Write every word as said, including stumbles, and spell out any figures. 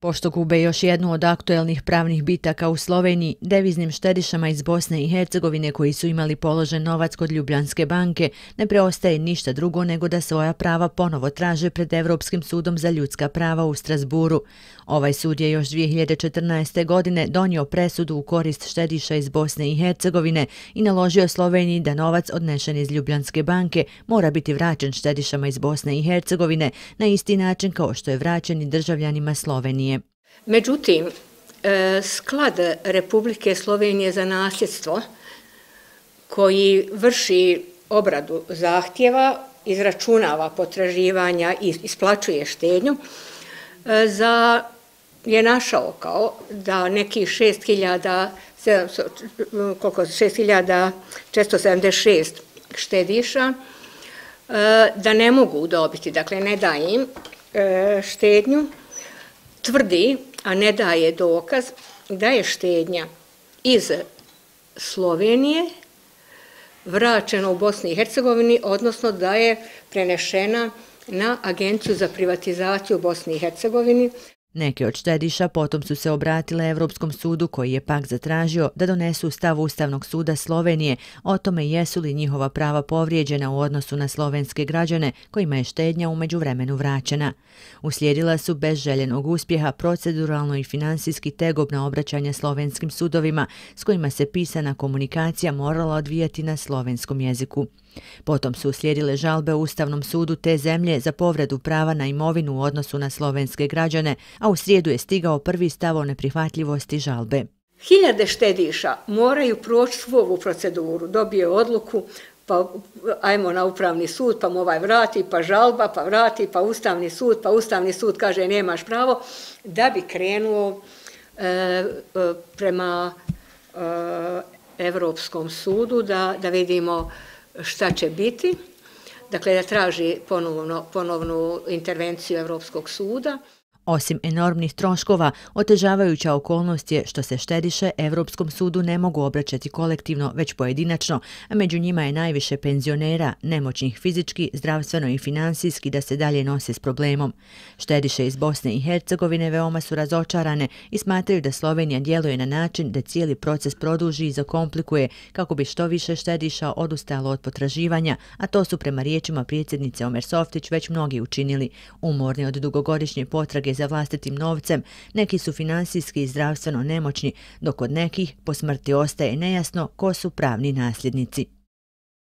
Pošto gube još jednu od aktuelnih pravnih bitaka u Sloveniji, deviznim štedišama iz Bosne i Hercegovine koji su imali položen novac kod Ljubljanske banke, ne preostaje ništa drugo nego da svoja prava ponovo traže pred Evropskim sudom za ljudska prava u Strasburu. Ovaj sud je još dvije hiljade četrnaeste. godine donio presudu u korist štediša iz Bosne i Hercegovine i naložio Sloveniji da novac odnešen iz Ljubljanske banke mora biti vraćen štedišama iz Bosne i Hercegovine na isti način kao što je vraćen i državljanima Slovenije. Međutim, sklad Republike Slovenije za nasljedstvo koji vrši obradu zahtjeva, izračunava potraživanja i isplaćuje štednju, za, je našao kao da nekih šest hiljada četiristo sedamdeset šest štediša da ne mogu dobiti, dakle ne daje im štednju, tvrdi, a ne daje dokaz, da je štednja iz Slovenije vraćena u Bosni i Hercegovini, odnosno da je prenešena na Agenciju za privatizaciju u Bosni i Hercegovini. Neke od štediša potom su se obratile Evropskom sudu koji je pak zatražio da donesu stav Ustavnog suda Slovenije o tome jesu li njihova prava povrijeđena u odnosu na slovenske građane kojima je štednja u međuvremenu vraćena. Uslijedila su bez željenog uspjeha proceduralno i finansijski tegobna obraćanja slovenskim sudovima s kojima se pisana komunikacija morala odvijati na slovenskom jeziku. Potom su uslijedile žalbe u Ustavnom sudu te zemlje za povredu prava na imovinu u odnosu na slovenske građane, a u srijedu je stigao prvi stav o neprihvatljivosti žalbe. Hiljade štediša moraju proći svu ovu proceduru, dobije odluku, pa ajmo na Upravni sud, pa mu ovaj vrati, pa žalba, pa vrati, pa Ustavni sud, pa Ustavni sud kaže nemaš pravo, da bi krenuo e, e, prema e, Evropskom sudu da, da vidimo šta će biti, dakle da traži ponovno, ponovnu intervenciju Evropskog suda. Osim enormnih troškova, otežavajuća okolnost je što se štediše Evropskom sudu ne mogu obraćati kolektivno, već pojedinačno, a među njima je najviše penzionera, nemoćnih fizički, zdravstveno i finansijski da se dalje nose s problemom. Štediše iz Bosne i Hercegovine veoma su razočarane i smatraju da Slovenija djeluje na način da cijeli proces produži i zakomplikuje kako bi što više štediša odustalo od potraživanja, a to su prema riječima predsjednice Omer Softić već mnogi učinili. Umorni od dugogodišnje potrage za vlastitim novcem, neki su finansijski i zdravstveno nemoćni, dok od nekih po smrti ostaje nejasno ko su pravni nasljednici.